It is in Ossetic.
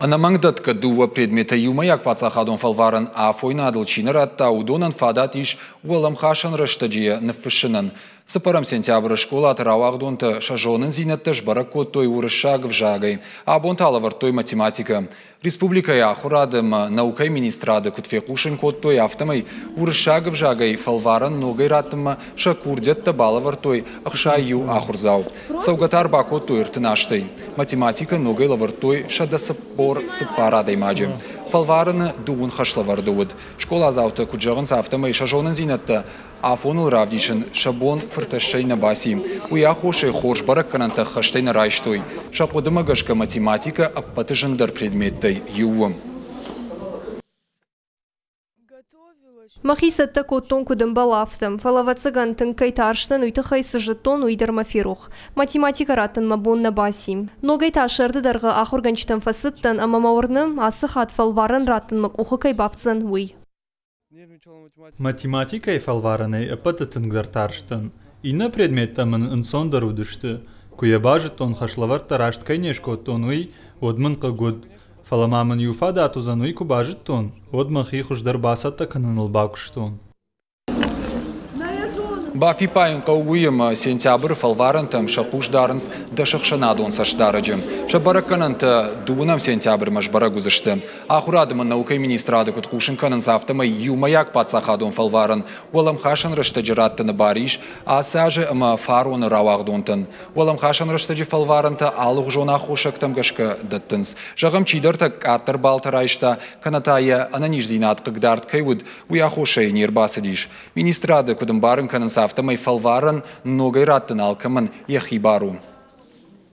Ӕнӕмӕнгдӕтгӕ дыууӕ предметӕй иумӕйаг паддзахадон фӕлварӕн афойнадыл чи нӕ радта, уыдонӕн фадат ис уӕлӕмхасӕн рӕстӕджы йӕ ныффыссынӕн. 4 сентябры скъолаты рауагъдонтӕ сӕ зонындзинӕдтӕ сбӕрӕг кодтой уырыссаг ӕвзагӕй. Абон та лӕвӕрдтой математикӕ. Республикӕйы ахуырады ӕмӕ наукӕйы министрады куыд фехъусын кодтой, афтӕмӕй уырыссаг ӕвзагӕй фӕлварӕн ногӕй раттынмӕ сӕ курдиӕттӕ балӕвӕрдтой 61 ахуырдзау. Цӕугӕ та ӕрбакодтой 38-ӕй. Математикӕ ногӕй лӕвӕрдтой 144 адӕймаджы. Фӕлварӕны дыууын хӕслӕвӕрды уыд. Скъоладзаутӕ куыд зӕгъынц, афтӕмӕй сӕ зонындзинӕдтӕ афоныл равдисын сӕ бон фыртӕссӕй нӕ баци. Уый аххосӕй хорз бӕрӕггӕнӕнтӕ ӕххӕстӕй нӕ райстой. Сӕ хъуыдымӕ гӕсгӕ математикӕ ӕппӕты зындӕр предметтӕй иу у. Мӕхи цӕттӕ кодтон, куыд ӕмбӕлы, афтӕ. Фӕлӕ, ӕвӕццӕгӕн, тынг кӕй тарстӕн, уый тыххӕй цы зыдтон, уый дӕр мӕ ферох. Математикӕ раттын мӕ бон нӕ баци. Ногӕй та сӕрды дӕргъы ахуыргӕнджытӕм фӕцыдтӕн ӕмӕ мӕ уырны, ацы хатт фӕлварӕн раттын мӕ къухы кӕй бафтдзӕн, уый. Математикӕйы фӕлварӕнӕй ӕппӕты тынгдӕр тарстӕн. Иннӕ предметтӕ мын ӕнцондӕр уыдысты. Куы йӕ базыдтон, хӕслӕвӕрдтӕ раст кӕй не скодтон, уый, уӕд мын хъыг уыд. Фӕлӕ ма мын иу фадат уыдзӕн, уый куы базыдтон, уӕд мӕхи хуыздӕр бацӕттӕ кӕныныл бакуыстон. Бафиппайын хъӕуы уый, ӕмӕ сентябры фӕлварӕнтӕм сӕ хъус дарынц дӕс ӕхсӕнадон цӕстдарӕджы. Сӕ бӕрӕггӕнӕнтӕ дыууынӕм сентябрмӕ сбӕрӕг уыдзысты. Ахуырады ӕмӕ наукӕйы министрады куыд хъусын кӕнынц, афтӕмӕй иумӕйаг паддзахадон фӕлварӕн уӕлӕмхасӕн рӕстӕджы раттыны бар ис ацы азы ӕмӕ фароны рауагъдонтӕн. Уӕлӕмхасӕн рӕстӕджы фӕлварӕнтӕ алыгъуызон аххосӕгтӕм гӕсгӕ дӕттынц. Зӕгъӕм, чидӕртӕ къаддӕр баллтӕ райста, кӕнӕ та йӕ ӕнӕниздзинад хъыгдард кӕй уыд, уый аххосӕй не рбацыдис. Министрады куыд ӕмбарын кӕнынц, афтӕмӕй фӕлварӕн ногӕй раттын алкӕмӕн йӕхи бар у.